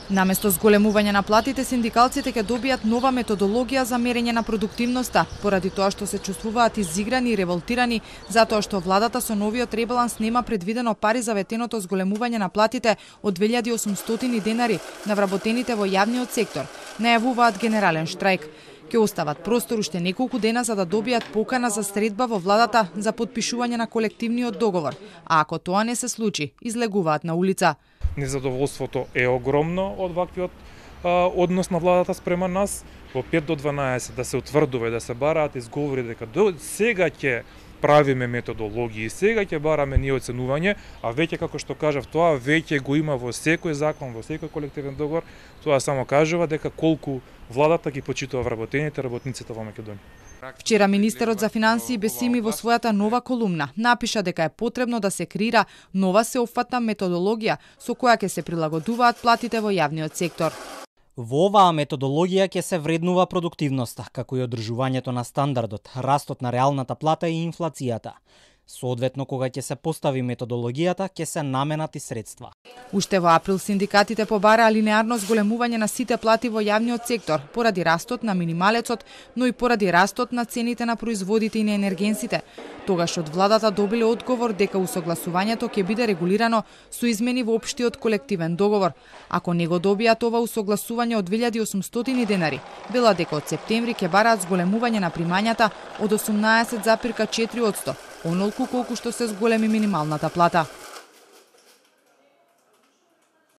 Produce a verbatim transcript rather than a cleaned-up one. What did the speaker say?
Наместо зголемување на платите, синдикалците ќе добијат нова методологија за мерење на продуктивноста, поради тоа што се чувствуваат изиграни и револтирани, затоа што владата со новиот ребаланс нема предвидено пари за ветеното зголемување на платите од две илјади и осумстотини денари на вработените во јавниот сектор. Најавуваат генерален штрајк. Ќе остават простор уште неколку дена за да добијат покана за средба во владата за потпишување на колективниот договор, а ако тоа не се случи, излегуваат на улица. Незадоволството е огромно од ваквиот а, однос на владата спрема нас. Во пет до дванаесет да се утврдува и да се бараат изговори дека до сега ќе правиме методологии, сега ќе бараме ние оценување, а веќе како што кажав, тоа веќе го има во секој закон, во секој колективен договор. Тоа само кажува дека колку владата ги почитува вработените, работниците во Македонија. Вчера министерот за финансии Бесими во својата нова колумна напиша дека е потребно да се креира нова сеопфатна методологија со која ќе се прилагодуваат платите во јавниот сектор. Во оваа методологија ќе се вреднува продуктивноста, како и одржувањето на стандардот, растот на реалната плата и инфлацијата. Соодветно, кога ќе се постави методологијата, ќе се наменати средства. Уште во април синдикатите побараа линеарно зголемување на сите плати во јавниот сектор, поради растот на минималецот, но и поради растот на цените на производите и на енергенсите. Тогаш од владата добиле одговор дека усогласувањето ќе биде регулирано со измени во општиот колективен договор. Ако не го добијат ова усогласување од две илјади и осумстотини денари, вела дека од септември ќе бараат зголемување на примањата од осумнаесет зарез четири одсто, онолку колку што се зголеми минималната плата.